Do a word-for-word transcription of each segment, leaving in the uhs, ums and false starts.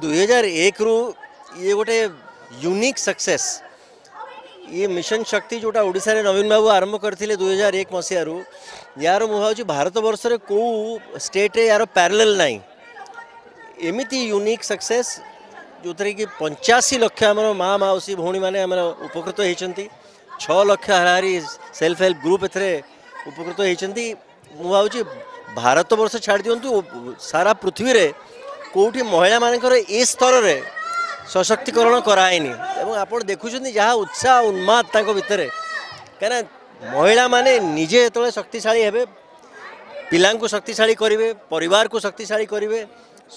ଦୁଇ ହଜାର ଏକରୁ ଇଏ ଗୋଟେ ୟୁନିକ୍ ସକ୍ସେସ୍। ଇଏ ମିଶନ ଶକ୍ତି ଯେଉଁଟା ଓଡ଼ିଶାରେ ନବୀନ ବାବୁ ଆରମ୍ଭ କରିଥିଲେ ଦୁଇ ହଜାର ଏକ ମସିହାରୁ, ୟାର ମୁଁ ଭାବୁଛି ଭାରତବର୍ଷରେ କେଉଁ ଷ୍ଟେଟ୍ରେ ୟାର ପ୍ୟାରାଲେଲ୍ ନାହିଁ। ଏମିତି ୟୁନିକ୍ ସକ୍ସେସ୍ ଯେଉଁଥିରେ କି ପଞ୍ଚାଅଶୀ ଲକ୍ଷ ଆମର ମା, ମାଉସୀ, ଭଉଣୀମାନେ ଆମର ଉପକୃତ ହେଇଛନ୍ତି। ଛଅ ଲକ୍ଷ ହାରାହାରି ସେଲ୍ଫ ହେଲ୍ପ ଗ୍ରୁପ୍ ଏଥିରେ ଉପକୃତ ହେଇଛନ୍ତି। ମୁଁ ଭାବୁଛି ଭାରତବର୍ଷ ଛାଡ଼ି ଦିଅନ୍ତୁ, ସାରା ପୃଥିବୀରେ କେଉଁଠି ମହିଳାମାନଙ୍କର ଏ ସ୍ତରରେ ସଶକ୍ତିକରଣ କରାହେଇନି। ଏବଂ ଆପଣ ଦେଖୁଛନ୍ତି ଯାହା ଉତ୍ସାହ ଉନ୍ମାଦ ତାଙ୍କ ଭିତରେ, କାହିଁକିନା ମହିଳାମାନେ ନିଜେ ଯେତେବେଳେ ଶକ୍ତିଶାଳୀ ହେବେ, ପିଲାଙ୍କୁ ଶକ୍ତିଶାଳୀ କରିବେ, ପରିବାରକୁ ଶକ୍ତିଶାଳୀ କରିବେ,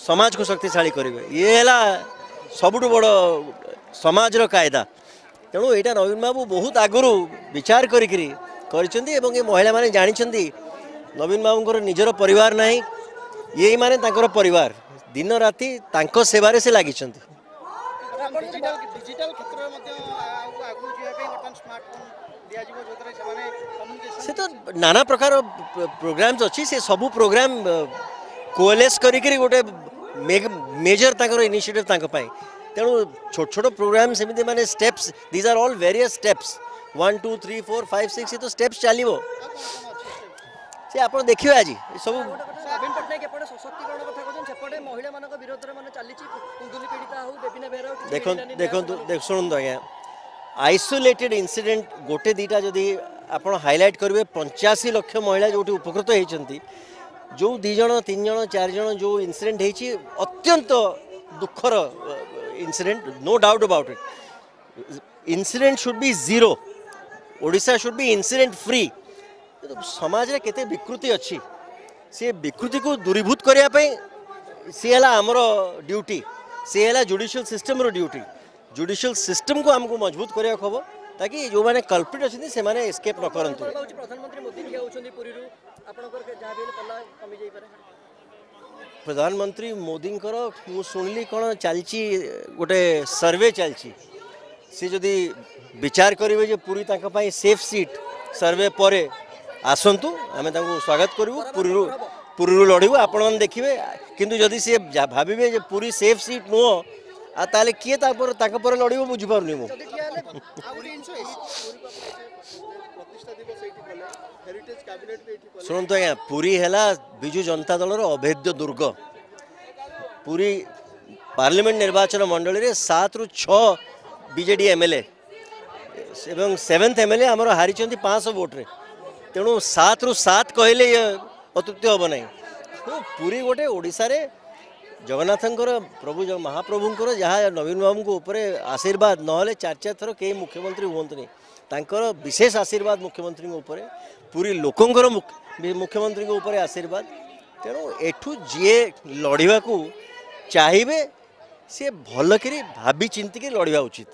ସମାଜକୁ ଶକ୍ତିଶାଳୀ କରିବେ। ଇଏ ହେଲା ସବୁଠୁ ବଡ଼ ସମାଜର କାଇଦା। ତେଣୁ ଏଇଟା ନବୀନ ବାବୁ ବହୁତ ଆଗରୁ ବିଚାର କରିକିରି କରିଛନ୍ତି ଏବଂ ଏ ମହିଳାମାନେ ଜାଣିଛନ୍ତି ନବୀନ ବାବୁଙ୍କର ନିଜର ପରିବାର ନାହିଁ, ଏଇମାନେ ତାଙ୍କର ପରିବାର। ଦିନ ରାତି ତାଙ୍କ ସେବାରେ ସେ ଲାଗିଛନ୍ତି। ଡିଜିଟାଲ ଡିଜିଟାଲ କ୍ଷେତ୍ରରେ ମଧ୍ୟ ଆଉ ଆଗକୁ ଯିବା ପାଇଁ ବର୍ତ୍ତମାନ ସ୍ମାର୍ଟଫୋନ୍ ଦିଆଯିବ, ଯେଉଁଥିରେ ସେମାନେ କମ୍ୟୁନିକେସନ ସେ ତ ନାନା ପ୍ରକାର ପ୍ରୋଗ୍ରାମ୍ସ ଅଛି, ସେ ସବୁ ପ୍ରୋଗ୍ରାମ କୋଏଲେସ୍ କରିକିରି ଗୋଟେ ମେଜର ତାଙ୍କର ଇନିସିଏଟିଭ୍ ତାଙ୍କ ପାଇଁ। ତେଣୁ ଛୋଟ ଛୋଟ ପ୍ରୋଗ୍ରାମ ସେମିତି ମାନେ steps, these are all various steps, one two three four five six, ଏ ତ ଷ୍ଟେପ୍ସ ଚାଲିବ। ସେ ଆପଣ ଦେଖିବେ ଆଜି ସବୁ। ନବୀନ ପଟ୍ଟନାୟକ ଏପଟେ ସଶକ୍ତିକରଣ କଥା କହୁଛନ୍ତି, ସେପଟେ ମହିଳାମାନଙ୍କ ବିରୋଧରେ ମାନେ ଚାଲିଛି, କୁନ୍ଦୁଲି ପୀଡ଼ିତା ହଉ, ବେବିନା ବେହେରା ହଉ। ଦେଖନ୍ତୁ ଦେଖନ୍ତୁ ଦେଖ ଶୁଣନ୍ତୁ ଆଜ୍ଞା, ଆଇସୋଲେଟେଡ୍ ଇନସିଡେଣ୍ଟ ଗୋଟେ ଦୁଇଟା ଯଦି ଆପଣ ହାଇଲାଇଟ୍ କରିବେ, ପଞ୍ଚାଅଶୀ ଲକ୍ଷ ମହିଳା ଯେଉଁଠି ଉପକୃତ ହେଇଛନ୍ତି, ଯେଉଁ ଦୁଇ ଜଣ ତିନି ଜଣ ଚାରି ଜଣ ଯେଉଁ ଇନସିଡେଣ୍ଟ ହେଇଛି, ଅତ୍ୟନ୍ତ ଦୁଃଖର incident, no doubt about it. Incident should be zero, Odisha should be incident free. କିନ୍ତୁ ସମାଜରେ କେତେ ବିକୃତି ଅଛି, ସେ ବିକୃତିକୁ ଦୂରୀଭୂତ କରିବା ପାଇଁ ସିଏ ହେଲା ଆମର ଡ୍ୟୁଟି, ସିଏ ହେଲା ଜୁଡ଼ିସିଆଲ ସିଷ୍ଟମର ଡ୍ୟୁଟି। ଜୁଡ଼ିସିଆଲ ସିଷ୍ଟମକୁ ଆମକୁ ମଜବୁତ କରିବାକୁ ହେବ, ତାକି ଯେଉଁମାନେ କଲ୍ପ୍ରିଟ୍ ଅଛନ୍ତି ସେମାନେ ଏସ୍କେପ୍ ନ କରନ୍ତୁ। ହେଉଛି ପ୍ରଧାନମନ୍ତ୍ରୀ ମୋଦି ଠିଆ ହେଉଛନ୍ତି ପୁରୀରୁ, ଆପଣଙ୍କର ଯାହା ବି ହେଲେ ପଲ୍ଲା କମି ଯାଇପାରେ। ପ୍ରଧାନମନ୍ତ୍ରୀ ମୋଦିଙ୍କର ମୁଁ ଶୁଣିଲି କ'ଣ ଚାଲିଛି, ଗୋଟେ ସର୍ଭେ ଚାଲିଛି। ସେ ଯଦି ବିଚାର କରିବେ ଯେ ପୁରୀ ତାଙ୍କ ପାଇଁ ସେଫ୍ ସିଟ୍, ସର୍ଭେ ପରେ ଆସନ୍ତୁ, ଆମେ ତାଙ୍କୁ ସ୍ୱାଗତ କରିବୁ, ପୁରୀରୁ ପୁରୀରୁ ଲଢ଼ିବୁ, ଆପଣମାନେ ଦେଖିବେ। କିନ୍ତୁ ଯଦି ସିଏ ଭାବିବେ ଯେ ପୁରୀ ସେଫ୍ ସିଟ୍ ନୁହଁ, ଆଉ ତାହେଲେ କିଏ ତାପରେ ତାଙ୍କ ପରେ ଲଢ଼ିବ, ବୁଝିପାରୁନି ମୁଁ। ଯଦି ଠିଆ ହେଲେ ଆଉ ଗୋଟେ ଜିନିଷ, ପ୍ରତିଷ୍ଠା ଦିବସ ଏଇଠି କଲେ, ହେରିଟେଜ କ୍ୟାବିନେଟ୍ ବି ଏଇଠି କଲେ। ଶୁଣନ୍ତୁ ଆଜ୍ଞା, ପୁରୀ ହେଲା ବିଜୁ ଜନତା ଦଳର ଅଭେଦ୍ୟ ଦୁର୍ଗ। ପୁରୀ ପାର୍ଲାମେଣ୍ଟ ନିର୍ବାଚନ ମଣ୍ଡଳୀରେ ସାତରୁ ଛଅ ବିଜେଡି ଏମ୍ଏଲ୍ଏ ଏବଂ ସେଭେନ୍ଥ ଏମ୍ଏଲ୍ଏ ଆମର ହାରିଛନ୍ତି ପାଞ୍ଚଶହ ଭୋଟରେ। ତେଣୁ ସାତରୁ ସାତ କହିଲେ ଇଏ ଅତ୍ୟୁକ୍ତି ହେବ ନାହିଁ। ତେଣୁ ପୁରୀ ଗୋଟେ ଓଡ଼ିଶାରେ ଜଗନ୍ନାଥଙ୍କର ପ୍ରଭୁ ମହାପ୍ରଭୁଙ୍କର ଯାହା ନବୀନ ବାବୁଙ୍କ ଉପରେ ଆଶୀର୍ବାଦ, ନହେଲେ ଚାରି ଚାରି ଥର କେହି ମୁଖ୍ୟମନ୍ତ୍ରୀ ହୁଅନ୍ତୁନି। ତାଙ୍କର ବିଶେଷ ଆଶୀର୍ବାଦ ମୁଖ୍ୟମନ୍ତ୍ରୀଙ୍କ ଉପରେ, ପୁରୀ ଲୋକଙ୍କର ମୁଖ୍ୟମନ୍ତ୍ରୀଙ୍କ ଉପରେ ଆଶୀର୍ବାଦ। ତେଣୁ ଏଠୁ ଯିଏ ଲଢ଼ିବାକୁ ଚାହିଁବେ ସିଏ ଭଲକରି ଭାବି ଚିନ୍ତିକି ଲଢ଼ିବା ଉଚିତ।